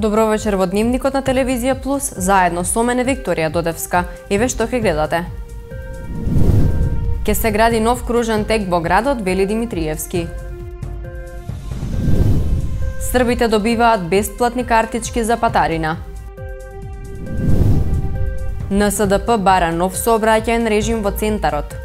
Добро вечер во Дневникот на Телевизија Плюс, заедно со мене Викторија Додевска. Еве што ќе гледате. Ке се гради нов кружен тек во градот, вели Димитриевски. Србите добиваат бесплатни картички за патарина. НСДП бара нов сообраќајен режим во центарот.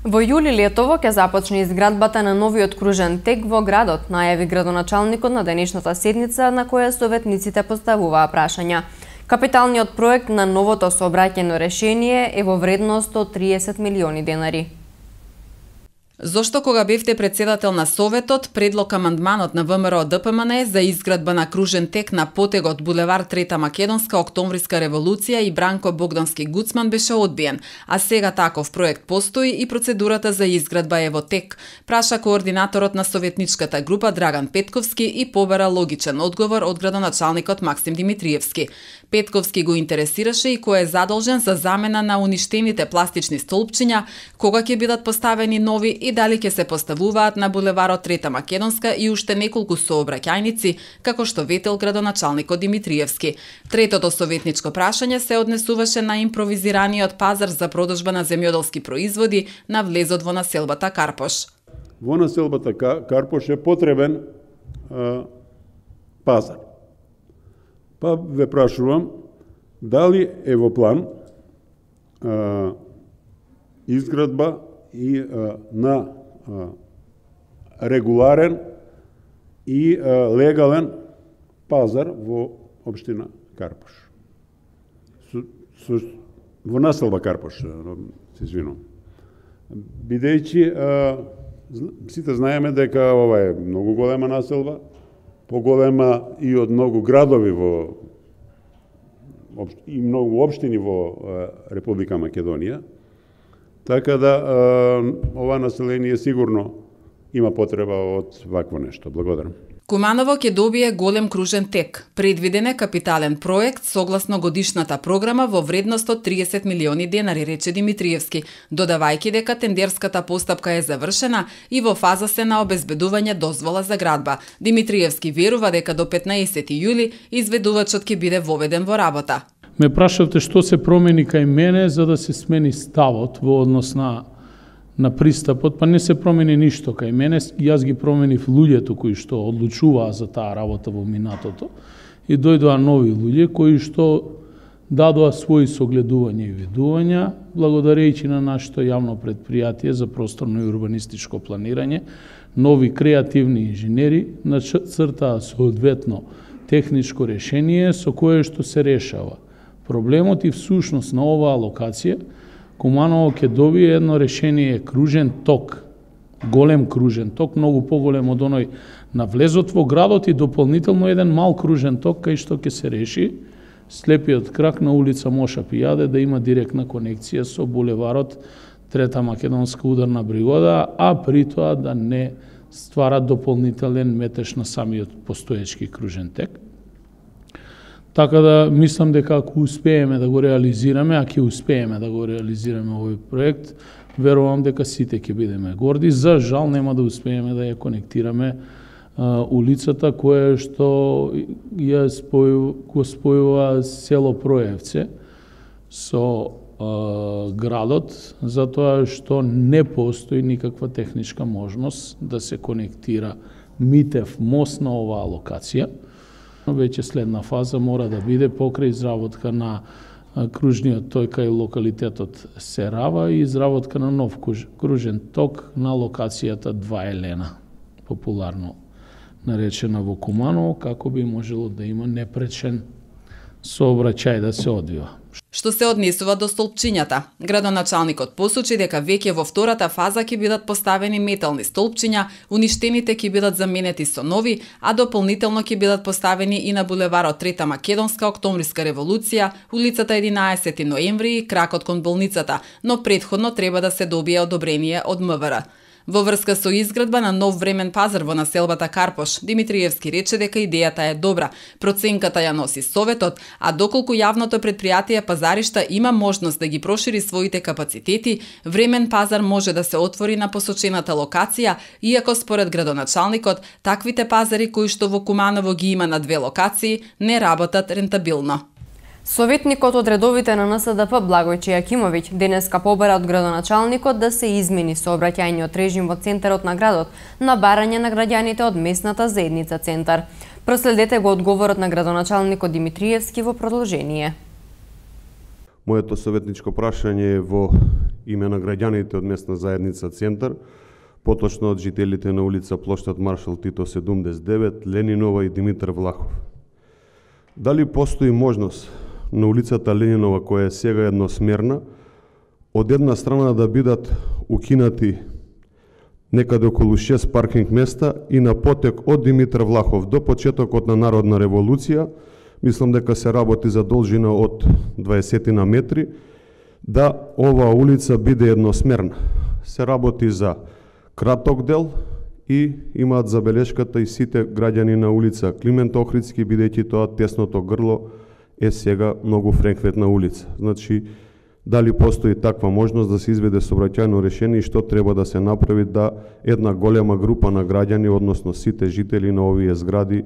Во јули летово ќе започне изградбата на новиот кружен тек во градот, најави градоначалникот на денешната седница на која советниците поставуваа прашања. Капиталниот проект на новото сообраќајно решение е во вредност од 30 милиони денари. Зошто кога бевте председател на Советот, предлог амандманот на ВМРО ДПМН за изградба на кружен тек на потегот булевар Трета Македонска, Октомвриска револуција и Бранко Богдански Гуцман беше одбиен, а сега таков проект постои и процедурата за изградба е во тек, праша координаторот на советничката група Драган Петковски и побара логичен одговор од градоначалникот Максим Димитриевски. Петковски го интересираше и кој е задолжен за замена на уништените пластични столпчиња, кога ќе бидат поставени нови и дали ќе се поставуваат на булеварот Трета Македонска и уште неколку сообраќајници, како што ветел градоначалникот Димитриевски. Третото советничко прашање се однесуваше на импровизираниот пазар за продажба на земјоделски производи на влезот во населбата Карпош. Во населбата Карпош е потребен пазар. Па ве прашувам, дали е во план изградба и на регуларен и легален пазар во општина Карпош. Во населба Карпош, се извинувам. Бидејќи сите знаеме дека ова е многу голема населба, поголема и од многу градови и многу општини во Република Македонија. Така да ова население сигурно има потреба од вакво нешто. Благодарам. Куманово ќе добие голем кружен тек. Предвиден е капитален проект согласно годишната програма во вредност од 30 милиони денари, рече Димитриевски, додавајќи дека тендерската постапка е завршена и во фаза се на обезбедување дозвола за градба. Димитриевски верува дека до 15 јули изведувачот ќе биде воведен во работа. Ме прашавте што се промени кај мене за да се смени ставот во однос на пристапот, па не се промени ништо кај мене, јас ги променив луѓето кои што одлучуваа за таа работа во минатото и дојдоа нови луѓе кои што дадоа своји согледувања и видувања, благодарејќи на нашето јавно предпријатие за просторно и урбанистичко планирање, нови креативни инженери нацртаа соодветно техничко решение со кое што се решава проблемот и всушност на оваа локација. Куманово ќе добие едно решение кружен ток, голем кружен ток, многу поголем од оној на влезот во градот и дополнително еден мал кружен ток кај што ќе се реши слепиот крак на улица Моша Пијаде да има директна конекција со булеварот Трета Македонска ударна бригода, а при тоа да не ствара дополнителен метеж на самиот постоечки кружен тек. Така да мислам дека ако успееме да го реализираме, а ќе успееме да го реализираме овој проект, верувам дека сите ќе бидеме горди. За жал нема да успееме да ја конектираме улицата која што ја спојува село Проевце со градот, затоа што не постои никаква техничка можност да се конектира Митев мост на оваа локација. Веќе следна фаза мора да биде покрај изработка на кружниот тој кај локалитетот Серава и изработка на нов кружен ток на локацијата 2 Елена, популарно наречена во Куманово, како би можело да има непречен сообраќај да се одвива. Што се однесува до столпчињата, градоначалникот посочи дека веќе во втората фаза ќе бидат поставени метални столпчиња, уништените ќе бидат заменети со нови, а дополнително ќе бидат поставени и на булеварот Трета Македонска, Октомвриска револуција, улицата 11 ноември и кракот кон болницата, но претходно треба да се добие одобрение од МВР. Во врска со изградба на нов времен пазар во населбата Карпош, Димитриевски рече дека идејата е добра, проценката ја носи Советот, а доколку јавното предпријатие Пазаришта има можност да ги прошири своите капацитети, времен пазар може да се отвори на посочената локација, иако според градоначалникот, таквите пазари кои што во Куманово ги има на две локации, не работат рентабилно. Советникот од редовите на НСДП Благојче Јакимовиќ денеска побара од градоначалникот да се измени сообраќајниот режим во центарот на градот на барање на граѓаните од местната заедница Центар. Проследете го одговорот на градоначалникот Димитриевски во продолжение. Моето советничко прашање е во име на граѓаните од местна заедница Центар, поточно од жителите на улица Плоштад Маршал Тито 79, Ленинова и Димитар Влахов. Дали постои можност на улицата Ленинова, која е сега едносмерна, од една страна да бидат укинати некаде околу 6 паркинг места и на потек од Димитар Влахов до почетокот на Народна револуција, мислам дека се работи за должина од 20 на метри, да оваа улица биде едносмерна. Се работи за краток дел и имаат забелешката и сите граѓани на улица Климент Охридски, бидејќи тоа тесното грло е сега многу фреквентна улица. Значи, дали постои таква можност да се изведе сообраќајно решение и што треба да се направи да една голема група на граѓани, односно сите жители на овие згради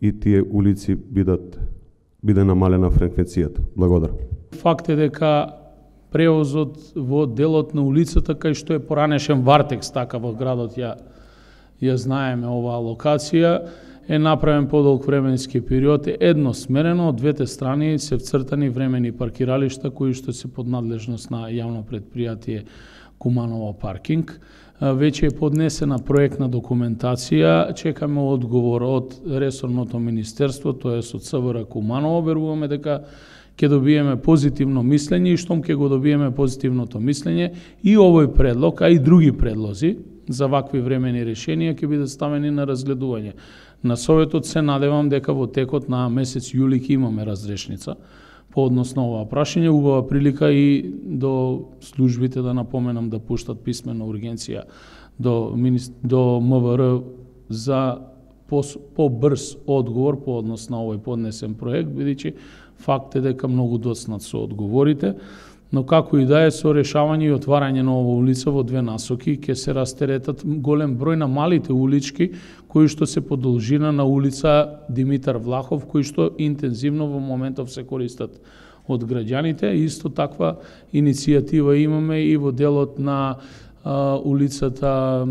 и тие улици биде намалена фреквенцијата. Благодарам. Факт е дека превозот во делот на улицата, кај што е поранешен Вартекс, така во градот ја знаеме оваа локација, е направен подолг временски период, е едносмерено, од двете страни се вцртани времени паркиралишта кои што се под надлежност на јавно предпријатие Куманово паркинг. Веќе е поднесена проектна документација, чекаме одговор од ресорното министерство, тоа е од СВР Куманово, веруваме дека ќе добиеме позитивно мислење и штом ќе го добиеме позитивното мислење и овој предлог, а и други предлози за вакви времени решенија ќе бидат ставени на разгледување. На Советот се надевам дека во текот на месец јули ќе имаме разрешница по однос на ова прашање. Убава прилика и до службите да напоменам да пуштат писмена ургенција до МВР за побрз одговор по однос на овој поднесен проект, бидејќи факт е дека многу доцнат со одговорите, но како и да е, со решавање и отварање на ова улица во две насоки ќе се растеретат голем број на малите улички кои што се по должина на улица Димитар Влахов, кои што интензивно во моментов се користат од граѓаните. Исто таква иницијатива имаме и во делот на улицата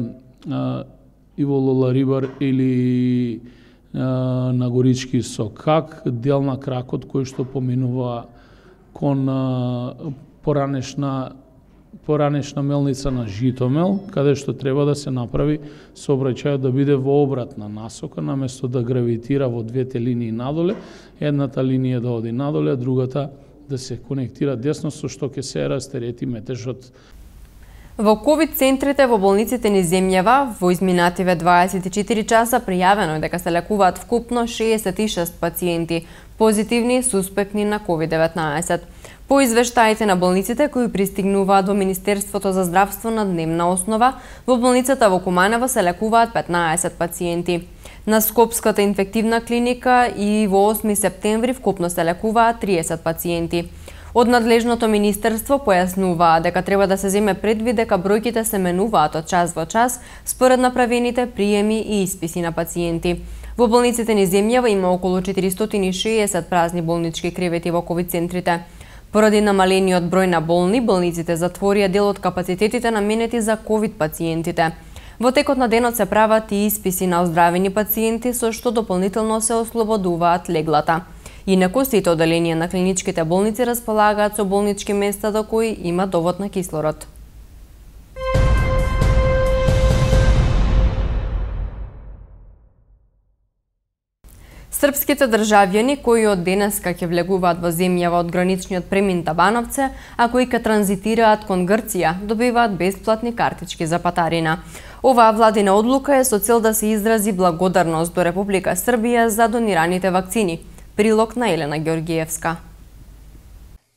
Иво Лоларибар или на Горички Сокак, дел на кракот кој што поминува кон поранешна мелница на Житомел, каде што треба да се направи сообраќајот да биде во обратна насока, наместо да гравитира во двете линии надоле, едната линија да оди надоле, а другата да се конектира десно, со што ќе се растерети метежот. Во ковид центрите во болниците низ земјава во изминативе 24 часа пријавено е дека се лекуваат вкупно 66 пациенти позитивни суспектни на COVID-19. По извештаите на болниците кои пристигнуваат во Министерството за здравство на дневна основа, во болницата во Куманово се лекуваат 15 пациенти. На Скопската инфективна клиника и во 8 септември вкупно се лекуваат 30 пациенти. Од надлежното министерство појаснуваа дека треба да се земе предвид дека бројките се менуваат од час во час според направените приеми и исписи на пациенти. Во болниците низ земјава има околу 460 празни болнички кревети во ковид центрите. Поради намалениот број на болни, болниците затворија дел од капацитетите наменети за ковид пациентите. Во текот на денот се прават и исписи на оздравени пациенти, со што дополнително се ослободуваат леглата. Инаку сите оделенија на клиничките болници располагаат со болнички места до кои има довод на кислород. Српските државјани кои од денеска ќе влегуваат во земјава од граничниот премин Табановце, а кои ќе транзитираат кон Грција, добиваат бесплатни картички за патарина. Оваа владина одлука е со цел да се изрази благодарност до Република Србија за донираните вакцини. Прилог на Елена Георгиевска.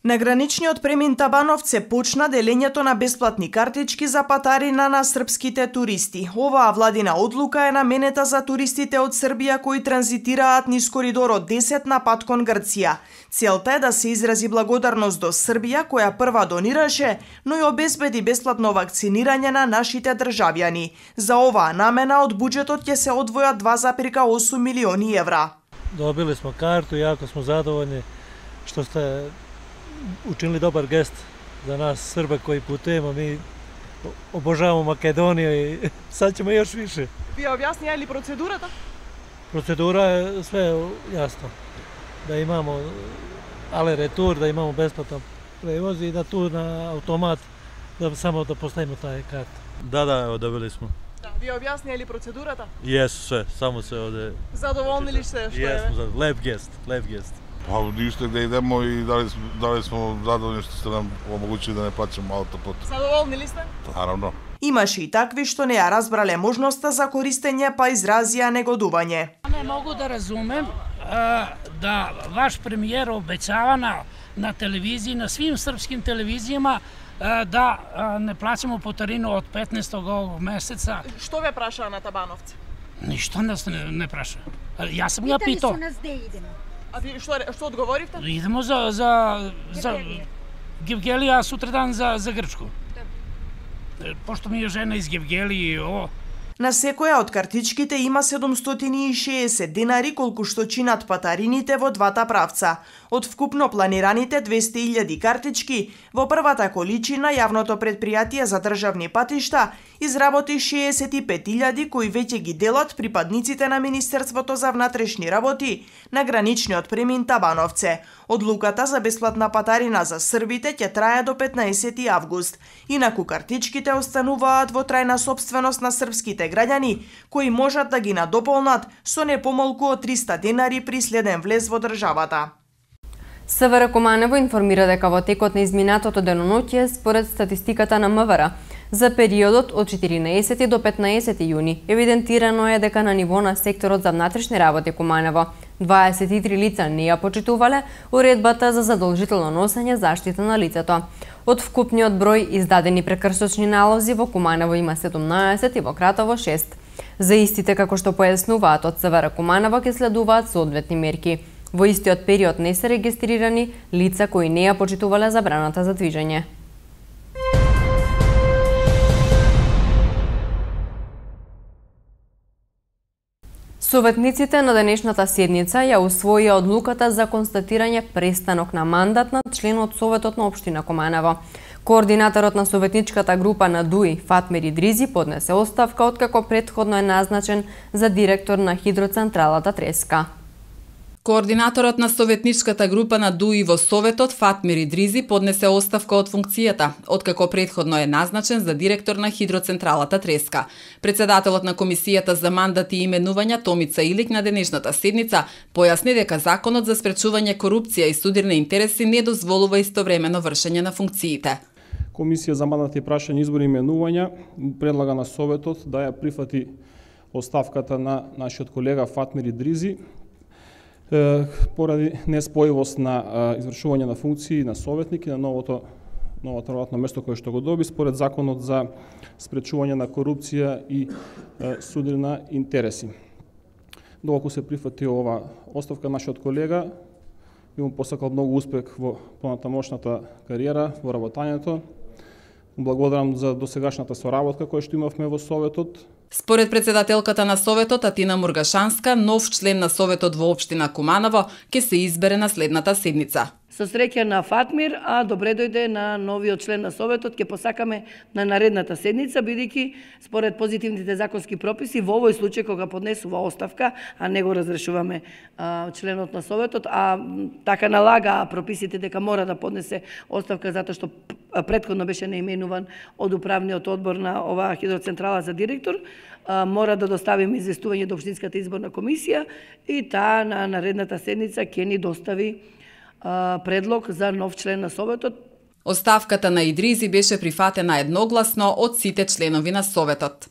На граничниот премин Табановце почна делењето на бесплатни картички за патарина на српските туристи. Оваа владина одлука е наменета за туристите од Србија кои транзитираат низ коридорот 10 на пат кон Грција. Целта е да се изрази благодарност до Србија која прва донираше, но и обезбеди бесплатно вакцинирање на нашите државјани. За оваа намена од буџетот ќе се одвојат 2,8 милиони евра. Добили смо карту, јако смо задоволни што сте учинили добар гест за нас Србе кои путуваме, ми обожаваме Македонија и сад ćemo још више. Вие објаснија ли процедурата? Процедура е све јасно. Да имамо але ретур, да имамо бесплатен превоз и да ту на автомат да само да поставиме таа карта. Да, одобили смо. Да, вие објаснија ли процедурата? Јесу све, само се оде. Задоволни ли сте што е? Јесу, леп гест. Па ништо да идемо и дали смо задоволни што сте нам омогучили да не плаќаме аутопот. Задоволни ли сте? Наравно. Имаше и такви што не ја разбрале можноста за користење, па изразија негодување. Не могу да разумем да ваш премиер обеќава на телевизии, на свим српским телевизијама да не плаќаме путарину од 15 овог месеца. Што ве прашаа на Табановци? Ништо нас не праша. Јас сум ја питал. А ви што одговоривте? Идемо за Гевгелија сутредан за Грчко. Пошто ми е жена из Гевгелија, На секоја од картичките има 760 денари колку што чинат патарините во двата правца. Од вкупно планираните 200.000 картички, во првата количина јавното предпријатие за државни патишта изработи 65.000 кои веќе ги делат припадниците на Министерството за внатрешни работи на граничниот премин Табановце. Одлуката за бесплатна патарина за србите ќе трае до 15 август. Инаку картичките остануваат во трајна сопственост на српските граѓани, кои можат да ги надополнат со не помалку од 300 денари при следен влез во државата. СВР Куманово информира дека во текот на изминатото деноноќе, според статистиката на МВР, за периодот од 14 до 15 јуни евидентирано е дека на ниво на секторот за внатрешни работи Куманово 23 лица не ја почитувале уредбата за задолжително носење заштита на лицето. Од вкупниот број издадени прекршочни налози во Куманово има 17 и во Кратово 6. За истите, како што појаснуваат од СВР Куманово, ќе следуваат соодветни мерки. Во истиот период не се регистрирани лица кои не ја почитувале забраната за движење. Советниците на денешната седница ја усвоија одлуката за констатирање престанок на мандат на член од Советот на општина Куманово. Координаторот на советничката група на ДУИ, Фатмир Идризи, поднесе оставка откако претходно е назначен за директор на хидроцентралата Треска. Координаторот на советничката група на ДУИ во Советот, Фатмир Идризи, поднесе оставка од функцијата, откако претходно е назначен за директор на хидроцентралата Треска. Председателот на Комисијата за мандати и именувања Томица Илик на денешната седница појасни дека Законот за спречување корупција и судирни интереси не дозволува истовремено вршење на функциите. Комисија за мандати и прашање, избори и именувања предлага на Советот да ја прифати оставката на нашиот колега Фатмир Идризи поради неспојивост на извршување на функции на советник и на новото работно место кое што го доби според Законот за спречување на корупција и судирна интереси. Доколку се прифати ова оставка, нашиот колега би му посакал многу успех во понатамошната кариера, во работањето. Благодарам за досегашната соработка која што имавме во Советот. Според председателката на Советот Атина Мургашанска, нов член на Советот во општина Куманово ќе се избере на следната седница. Со среќа на Фатмир, а добре дојде на новиот член на Советот, ќе посакаме на наредната седница, бидејќи според позитивните законски прописи во овој случај кога поднесува оставка, а не го разрешуваме членот на Советот, а така налага прописите дека мора да поднесе оставка затоа што претходно беше наименуван од управниот одбор на оваа хидроцентрала за директор, мора да доставиме известување до Општинската изборна комисија и таа на наредната седница ќе ни достави предлог за нов член на Советот. Оставката на Идризи беше прифатена едногласно од сите членови на Советот.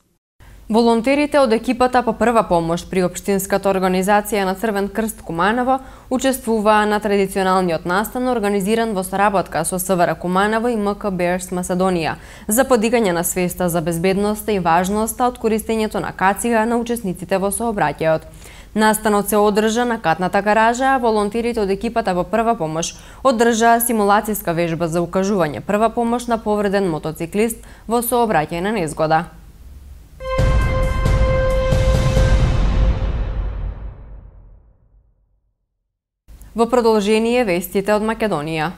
Волонтерите од екипата по прва помош при Општинската организација на Црвен крст Куманово учествуваа на традиционалниот настан организиран во соработка со СВР Куманово и МК Bears Македонија за подигање на свеста за безбедноста и важноста од користењето на кацига на учесниците во сообраќајот. Настанот се одржа на катната гаража, а волонтерите од екипата по прва помош одржаа симулацијска вежба за укажување прва помош на повреден мотоциклист во сообраќајна незгода. Во продолжение вестите од Македонија.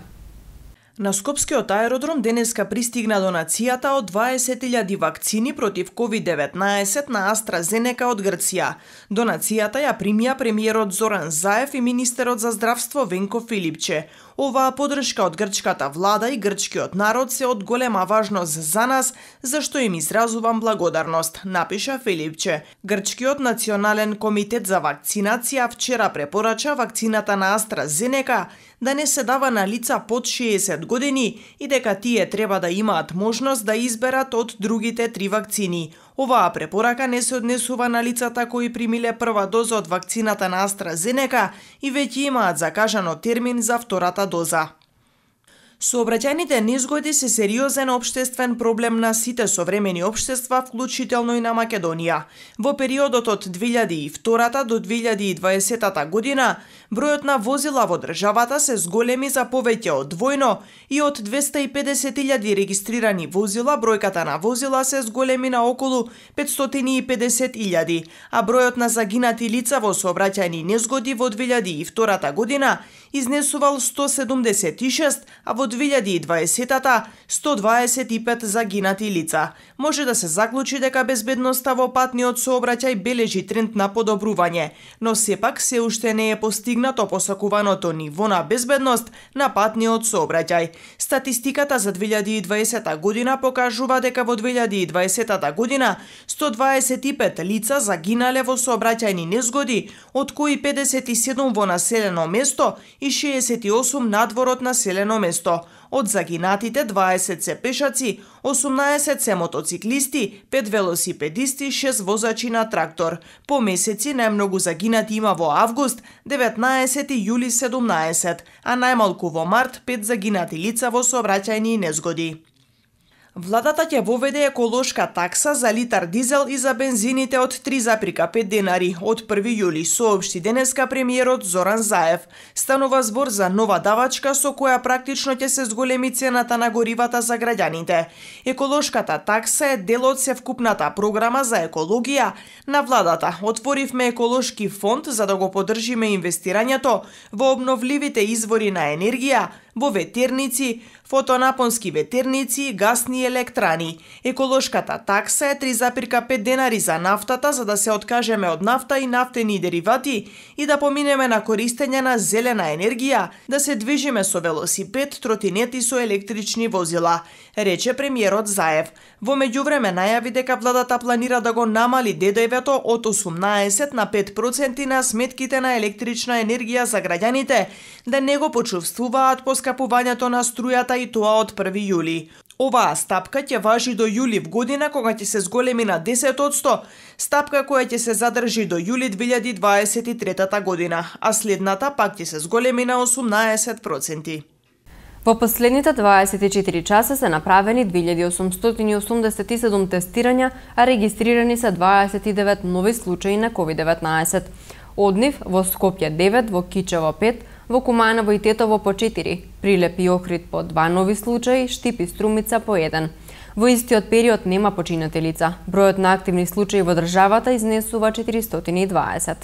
На Скопскиот аеродром денеска пристигна донацијата од 20.000 вакцини против COVID-19 на AstraZeneca од Грција. Донацијата ја примија премиерот Зоран Заев и министерот за здравство Венко Филипче. Оваа поддршка од грчката влада и грчкиот народ се од голема важност за нас, зашто им изразувам благодарност, напиша Филипче. Грчкиот национален комитет за вакцинација вчера препорача вакцината на AstraZeneca да не се дава на лица под 60 години и дека тие треба да имаат можност да изберат од другите 3 вакцини. Оваа препорака не се однесува на лицата кои примиле прва доза од вакцината на AstraZeneca и веќе имаат закажано термин за втората доза. Сообраќајните незгоди се сериозен општествен проблем на сите современи општества, вклучително и на Македонија. Во периодот од 2002 до 2020 година, бројот на возила во државата се зголеми за повеќе од двојно и од 250.000 регистрирани возила, бројката на возила се зголеми на околу 550.000, а бројот на загинати лица во сообраќајни незгоди во 2002 година изнесувал 176, а во 2020-та 125 загинати лица. Може да се заклучи дека безбедноста во патниот сообраќај бележи тренд на подобрување, но сепак се уште не е постигнато посакуваното ниво на безбедност на патниот сообраќај. Статистиката за 2020 година покажува дека во 2020 година 125 лица загинале во сообраќајни незгоди, од кои 57 во населено место и 68 надвор од населено место. Од загинатите 20 се пешаци, 18 се мотоциклисти, 5 велосипедисти, 6 возачи на трактор. По месеци најмногу загинати има во август, 19 и јули 17, а најмалку во март 5 загинати лица во сообраќајни незгоди. Владата ќе воведе еколошка такса за литар дизел и за бензините од 3,5 денари од 1 јули, соопшти денеска премиерот Зоран Заев. Станува збор за нова давачка со која практично ќе се зголеми цената на горивата за граѓаните. Еколошката такса е дел од севкупната програма за екологија на владата. Отворивме еколошки фонд за да го поддржиме инвестирањето во обновливите извори на енергија, во ветерници, фотонапонски ветерници, гасни електрани. Еколошката такса е 3,5 денари за нафтата за да се откажеме од нафта и нафтени деривати и да поминеме на користење на зелена енергија, да се движиме со велосипед, тротинет и со електрични возила, рече премиерот Заев. Во меѓувреме најави дека владата планира да го намали ДДВ-то од 18 на 5% на сметките на електрична енергија за граѓаните, да не го почувствуваат поскапувањето на струјата и тоа од 1 јули. Оваа стапка ќе важи до јули в година кога ќе се зголеми на 10%, стапка која ќе се задржи до јули 2023 година, а следната пак ќе се зголеми на 18%. Во последните 24 часа се направени 2887 тестирања, а регистрирани се 29 нови случаи на COVID-19. Од нив во Скопје 9, во Кичево 5, во Куманово и Тетово по 4, Прилеп и Охрид по 2 нови случаи, Штип и Струмица по 1. Во истиот период нема починати лица. Бројот на активни случаи во државата изнесува 420.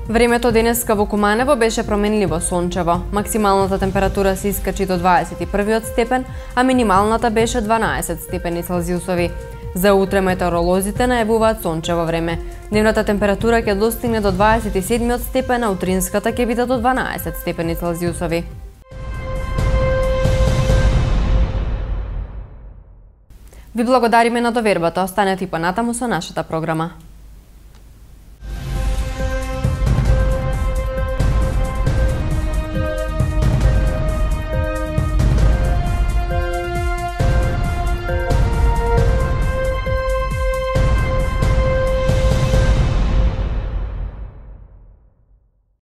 Времето денеска во Куманово беше променливо сончево. Максималната температура се искачи до 21 степен, а минималната беше 12 степени Целзиусови. За утре метеоролозите најавуваат сончево време. Дневната температура ќе достигне до 27 степен, а утринската ќе биде до 12 степени Целзиусови. Ви благодариме на довербата. Останете и понатаму со нашата програма.